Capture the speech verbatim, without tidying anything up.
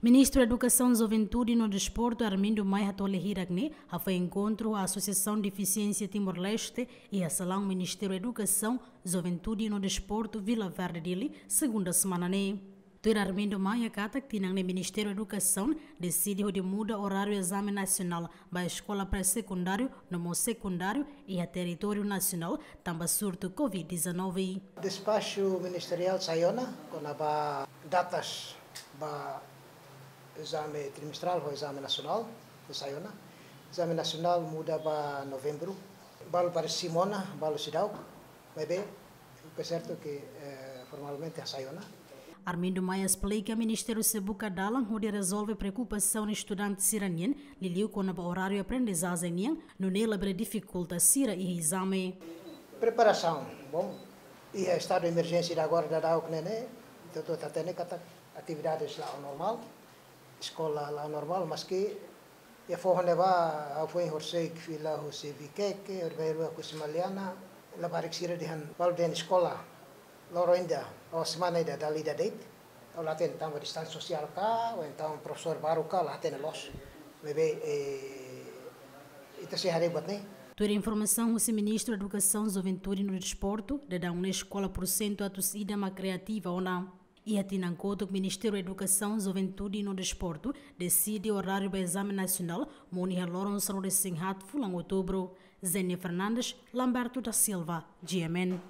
Ministru Edukasaun, Juventude no Desportu, Armindo Maia, hato'o lia hirak ne'e hafoin enkontru ho Asosiasaun Defisiénsia Timor-Leste iha salaun Ministériu Edukasaun, Juventude no Desportu, Vila Verde, Dili, segunda semana ne'e. Tuir Armindo Maia katak tinan ne'e Ministériu Edukasaun deside hodi muda oráriu ezame nasionál ba eskola pré-sekundáriu no mós sekundáriu iha territóriu nasionál tanba surtu covid dezanove. Despaxu ministeriál sai ona kona-ba datas ba ezame trimestrál ho ezame nasionál, sai ona. Ezame nasionál muda ba novembru. Balu parese simu ona, balu seidauk. Maibé, fica certo que, eh, formalmente sai ona. Armindo Maia esplika Ministériu sei buka dalan hodi rezolve preokupasaun estudante sira-nian, liuliu kona-ba oráriu aprendizajen nian, nune'e labele difikulta sira iha ezame. Preparasaun, bom, iha estadu de emerjénsia ida agora daudauk ne'e, entaun ita hatene katak atividades la'o normál, eskola la'o normál, maski iha foho ne'ebá, ha'u foin horisehik fila husi Viqueque, horibainrua husi Maliana, labarik sira dehan balu dehan eskola loron ida, ou semana ida dala ida de'it, ha'u la hatene tanba distánsia sosiál ka, ou entaun profesór balu ka, la hatene loos. Maibé, eh, ita sei haree buat ne'e. Tuir informasaun husi Ministru Edukasaun, Juventude no Desportu, daudaun ne'e eskola pursentu atus ida mak reativa ona. Iha tinan kotuk Ministériu Edukasaun, Juventude no Desportu deside oráriu ba ezame nasionál monu iha loron sanulu-resin-haat fulan outubru. Zenia Fernandes, Lamberto da Silva, G M N.